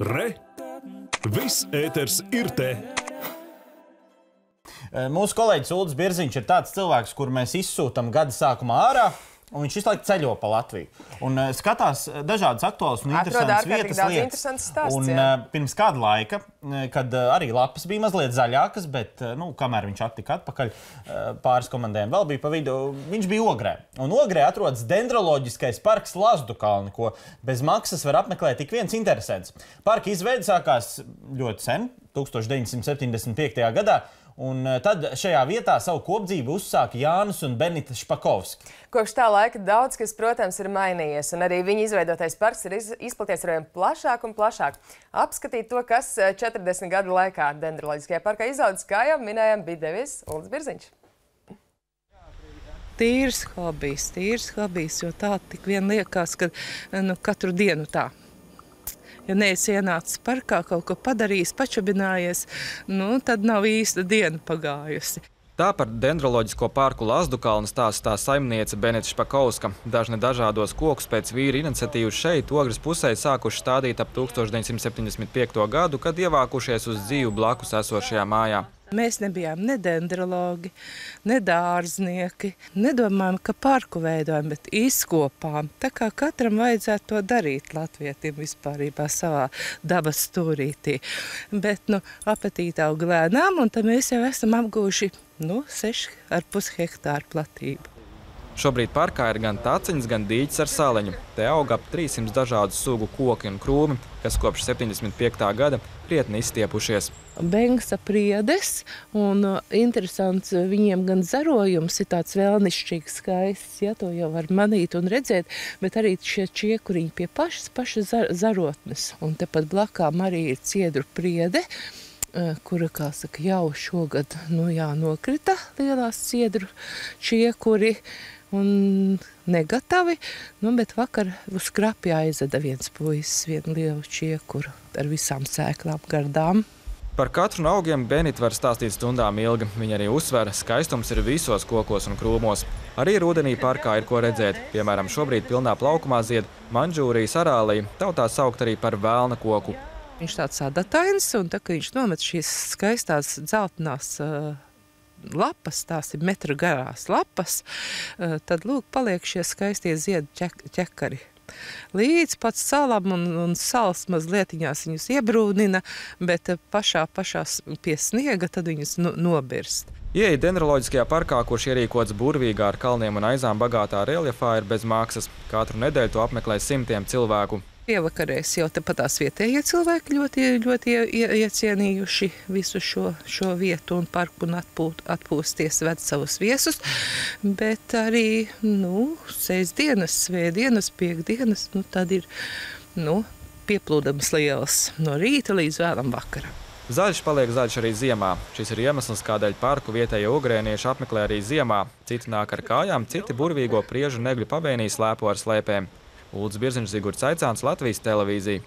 Re! Viss ēters ir te! Mūsu kolēģis Ulris Birziņš ir tāds cilvēks, kuru mēs izsūtam gada sākumā ārā, un viņš visu laiku ceļo pa Latviju. Un skatās dažādas aktuālas un interesantas vietas lietas. Un pirms kāda laika, kad arī lapas bija mazliet zaļākas, bet, kamēr viņš attika atpakaļ, pāris komandējiem vēl bija pa vidu, viņš bija Ogrē. Un Ogrē atrodas dendroloģiskais parks Lazdukalni, ko bez maksas var apmeklēt tik viens interesants. Parka izveide sākās ļoti sen, 1975. gadā, un tad šajā vietā savu kopdzīvi uzsāka Jānis un Benita Špakovski. Kopš tā laika daudz, kas, protams, ir mainījies, un arī viņa izveidotais parks ir izplaties arvien plašāk un plašāk. Apskatīt to, kas 40 gadu laikā dendroloģiskajā parkā izaudzis, kā jau minējām, bija devies Ulris Birziņš. Tīrs hobijs, jo tā tik vien liekas, ka katru dienu tā. Ja neesi ienācis parkā, kaut ko padarījis, pačabinājies, tad nav īsta diena pagājusi. Tā par dendroloģisko parku Lazdukalni stāsta saimniece Benita Špakovska. Dažni dažādos kokus pēc vīra iniciatīvas šeit Ogres pusē sākuši stādīt ap 1975. gadu, kad ievākušies uz dzīvu blakus esošajā mājā. Mēs nebijām ne dendrologi, ne dārznieki. Nedomājam, ka parku veidojam, bet izkopām. Tā kā katram vajadzētu to darīt latvietim vispārībā savā dabas stūrītī. Bet apetīte aug lēnām, un tad mēs jau esam apguvuši 6,5 hektāru platību. Šobrīd parkā ir gan taciņas, gan dīķis ar saleņu. Te aug ap 300 dažādu sugu koki un krūmi, kas kopš 75. gada krietni izstiepušies. Bengsa priedes, un interesants viņiem gan zarojums ir tāds vēlnišķīgs, skaists, ja to jau var manīt un redzēt, bet arī šie čiekuriņi pie pašas zarotnes. Un tepat blakām arī ir ciedru priede, kura, kā saka, jau šogad nokrita lielās ciedru čiekuri un negatavi, bet vakar uz krapi aizveda viens puisis, vienu lielu čiekuru ar visām sēklām gardām. Par katru no augiem Benita var stāstīt stundām ilgi. Viņa arī uzsver, skaistums ir visos kokos un krūmos. Arī rudenī parkā ir ko redzēt. Piemēram, šobrīd pilnā plaukumā zied manžūrijas arālija, tautā saukt arī par velna koku. Viņš tāds adatains, un tā, kad viņš nomet šīs skaistās dzeltenās lapas, tās ir metra garās lapas, tad, lūk, paliek šie skaistie ziedu ķekari. Līdz pat salam un sals mazlietiņās viņus iebrūnina, bet pašā pie sniega tad viņus nobirst. Ieeja dendroloģiskajā parkā, kurš ierīkots burvīgā ar kalniem un aizām bagātā reljefā, ir bez maksas. Katru nedēļu to apmeklē simtiem cilvēku. Pievakarēs jau tepat tās vietējie cilvēki ļoti iecienījuši visu šo vietu un parku un atpūsties ved savus viesus, bet arī, sestdienas, svētdienas, piekdienas, tad ir, pieplūdums liels no rīta līdz vēlam vakaram. Zaļš paliek zaļš arī ziemā. Šis ir iemesls, kādēļ parku vietējie ogrēnieši apmeklē arī ziemā. Citi nāk ar kājām, citi burvīgo priežu negļu pavēnī slēpo ar slēpēm. Ulris Birziņš, Zigurds Aicāns, Latvijas televīzija.